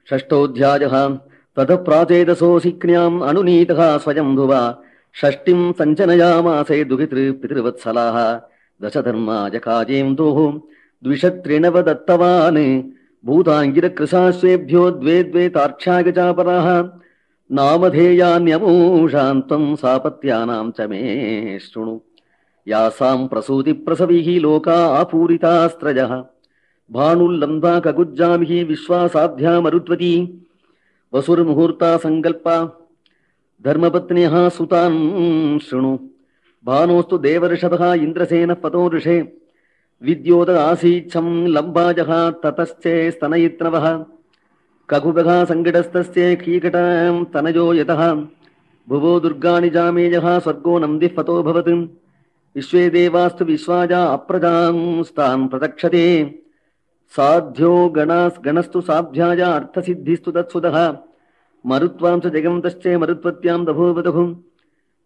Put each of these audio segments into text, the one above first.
षष्ठोऽध्यायः। ततः प्राचेदसोऽसिक्न्याम् अनुनीतः स्वयम्भुवा षष्टिम् सञ्चनयामासे दुहितृपितृवत्सलाः दशधर्माय काजेन्दोः द्विषत्रिणवदत्तवान् भूताङ्गिरकृशाश्वेभ्यो द्वे द्वे तार्क्ष्याय चापराः नामधेयान्यमूषान्त्वम् सापत्यानाम् च मे शृणु यासाम् प्रसूतिप्रसविः लोका आपूरितास्त्रयः भानुल्लम्बा कगुज्जामिः विश्वासाध्या मरुत्वती वसुर्मुहूर्ता सङ्कल्पा धर्मपत्न्यः सुतान् शृणु भानोस्तु देवर्षभः इन्द्रसेनः पतो ऋषे विद्योत आसीच्छम् लम्बाजः ततश्चे स्तनयित्नवः ककुभः सङ्कटस्तस्य कीकटाम् तनयो यतः भुवो दुर्गाणि जामेयः स्वर्गो नन्दिः पतोऽभवत् विश्वे देवास्तु विश्वाजा अप्रजांस्तान् प्रतक्षते साध्यो गणस्तु साध्याय अर्थसिद्धिस्तु तत्सुतः मरुत्वांस जगन्तश्चे मरुत्वत्यां दभोवदुः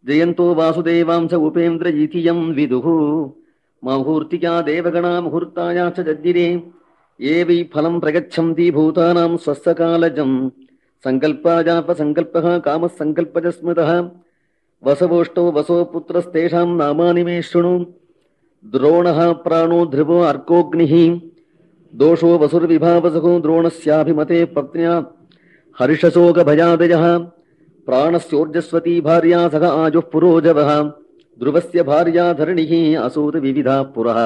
जयन्तो वासुदेवांस उपेन्द्रजीतियं विदुः मुहूर्तिका देवगणा मुहूर्ताया च जज्जिरे ये वै फलं प्रगच्छन्ति भूतानां स्वस्सकालजं सङ्कल्पाजापसङ्कल्पः कामः सङ्कल्पज स्मृतः वसवोष्टो वसो पुत्रस्तेषां नामानि मे शृणु द्रोणः प्राणो ध्रुवो अर्कोऽग्निः दोषो वसुर्विभावसको द्रोणस्याभिमते पत्न्या हर्षशोकभयादयः प्राणस्योर्जस्वती भार्या सह आजुः पुरोजवः ध्रुवस्य भार्या धरणिः असूत विविधा पुरः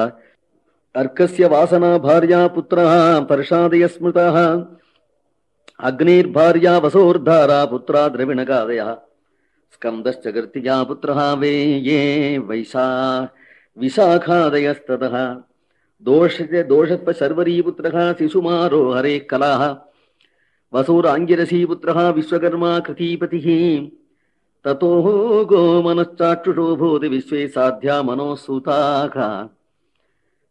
अर्कस्य वासना भार्या पुत्रः पर्षादय स्मृतः अग्निर्भार्या वसोर्धारा पुत्रा द्रविणगादयः स्कन्दश्च गर्तिया पुत्रः वे ये विशाखादयस्ततः दोषत्व शर्वरी पुत्रः शिशुमारो हरे कलाः वसुराङ्गिरसी पुत्रः विश्वकर्मा कृतीपतिः ततो गोमनश्चाक्षुषो भूति विश्वे साध्या मनोसूताः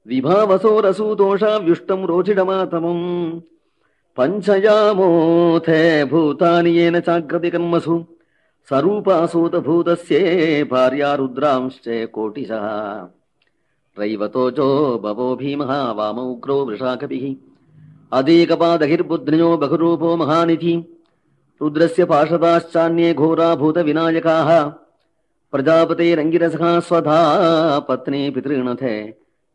विभावसोरसूतोषा व्युष्टं रोचिडमातमम् पञ्चयामोथे भूतानि येन चाग्रति कर्मसु सरूपासूतभूतस्ये भार्या रुद्रांश्च कोटिशः रैवतोजो बवो भीमः वामौग्रो वृषाकपिः अदेकपादहिर्बुध्न्यो बहुरूपो महानिधि रुद्रस्य पार्षदाश्चान्ये घोरा भूतविनायकाः प्रजापतेरङ्गिरसः स्वधा पत्नी पितॄणथे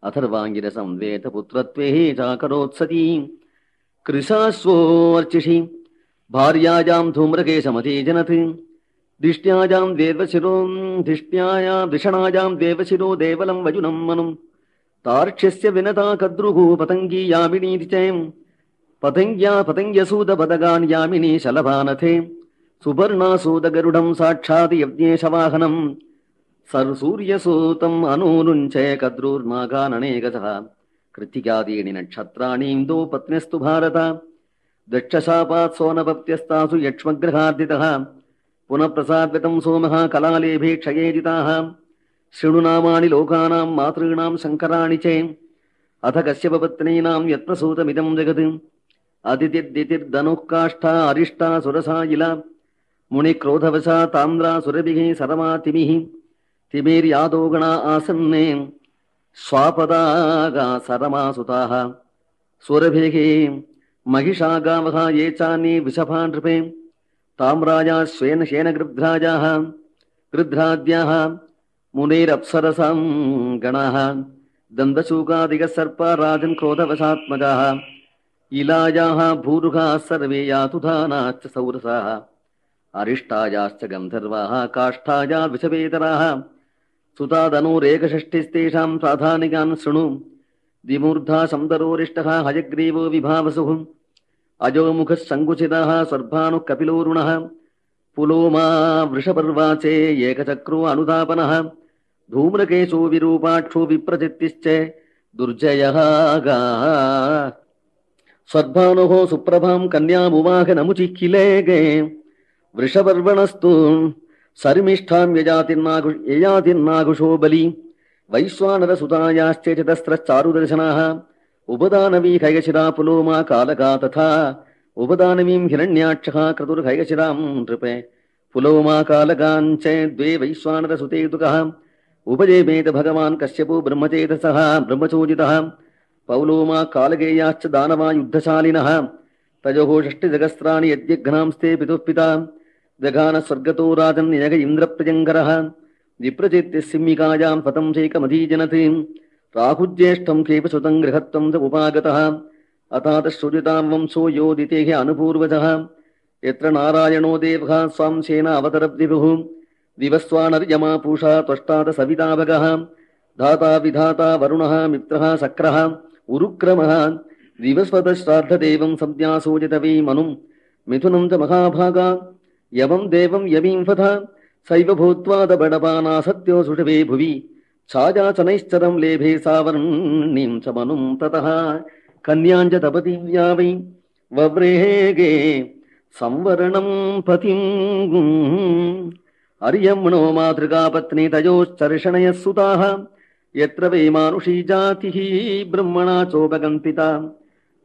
अथर्वाङ्गिरसं वेदपुत्रत्वे चाकरोत्सती कृशाश्वोर्चिषि भार्यायां धूम्रकेशमती जनत् दिष्ट्यायां धिषणायां देवशिरो देवलं वजुनं मनुं तार्क्ष्यस्य विनता कद्रुः पतङ्गी यामिनीति च पतङ्ग्यसूदपदगान् यामिनी शलभानथे सुपर्णासूदगरुडं साक्षात् यज्ञेशवाहनं सूर्यसूतम् अनूनुञ्च कद्रुर्नागाननेकशः कृत्तिकादीनि नक्षत्राणीन्दो पत्न्यस्तु भारत दक्षशापात् सोनपत्यस्तासु यक्ष्मग्रहार्दितः पुनः प्रसाद्यतं सोमः कलालेभे क्षयेजिताः शृणु नामानि लोकानां मातॄणां शङ्कराणि च अथ कश्यपपत्नीनां यत्प्रसूतमिदं जगत् अदितिर्दितिर्धनुः काष्ठा अरिष्टा सुरसायिला मुनिक्रोधवशा ताम्रा सुरभिः सरमातिमिः तिमिर्यादोगणा आसन्ने स्वापदागा सरमासुताः सुरभिः महिषागावः ये चान्ये वृषभा नृपे ताम्राया श्वेन शेनगृध्राजाः गृध्राद्याः मुनेरप्सरसां गणाः दन्तशूकादिकः सर्पा राजन् क्रोधवशात्मजाः इलायाः भूरुहाः सर्वे यातुधानाश्च सौरसाः अरिष्टायाश्च गन्धर्वाः काष्ठाया विषवेतराः सुतादनोरेकषष्टिस्तेषां साधानिकान् शृणु द्विमूर्धा शम्बरोरिष्टः हयग्रीवो विभावसुः अजोमुखः सङ्कुचितः स्वर्भानुः कपिलोरुणः पुलोमा वृषपर्वाचे एकचक्रो अनुदापनः धूम्रकेशो विरूपाक्षो विप्रचित्तिश्च दुर्जयः स्वर्भानुः सुप्रभां कन्यामुवाह नमुचिक्किलेगे वृषपर्वणस्तु सर्मिष्ठां ययातिर्नाघुषो बलि वैश्वानरसुतायाश्च चतस्रश्चारुदर्शनाः उपदानवी खैगशिरा पुलोमा कालका तथा उपदानवीं हिरण्याक्षः क्रतुर्खैगशिरां नृपे पुलोमा कालकाञ्च द्वे वैश्वानरसुतेतुकः उपजेमेत भगवान् कश्यपो ब्रह्मचेतसः ब्रह्मचोदितः पौलोमा कालगेयाश्च दानवा युद्धशालिनः तयोः षष्टिजगस्त्राणि यज्ञघ्नांस्ते पितुः पिता जघान स्वर्गतो राजन् यग इन्द्रप्रियङ्करः विप्रचेत्य सिंहिकायां पतं चैकमधीजनति राहुज्येष्ठं केपसुतं गृहत्वं च उपागतः अतातश्रुजितां वंशो योदितेः अनुपूर्वजः यत्र नारायणो देवः स्वांशेन अवतरद्विभुः दिवस्वानर्यमा पूषा त्वष्टात सविता भगः धाता विधाता वरुणः मित्रः शक्रः उरुक्रमः दिवस्वतश्राद्धदेवं संज्ञासोजितवै मनुं मिथुनं च महाभागा यवं देवं यवींफथ सैव भूत्वा दबडपाना सत्यो सुषवे भुवि छायाचनैश्चरं लेभे सावर्णीं च मनुं ततः कन्याञ्च तपतीव्या वै वव्रेगे संवरणं पतिम् अर्यम्णो मातृका पत्नी तयोश्चर्षणयः सुताः यत्र वै मानुषी जातिः ब्रह्मणा चोपकल्पिता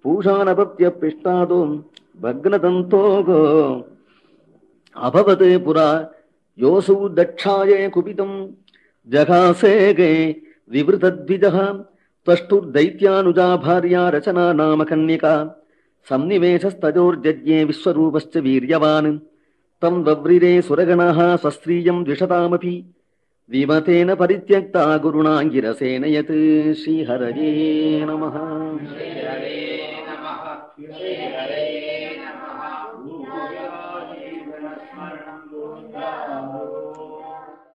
पूषानपत्यपिष्टादो भग्नदन्तोगो अभवत् पुरा योऽसौ दक्षाये कुपितं जघासेगे विवृतद्विजः त्वष्टुर्दैत्यानुजा भार्या रचना नाम कन्यका संनिवेशस्तजोर्जज्ञे विश्वरूपश्च वीर्यवान् तं वव्रिरे सुरगणाः स्वस्त्रियं द्विषतामपि विमतेन परित्यक्ता गुरुणा गिरसेन यत् श्रीहरये नमः।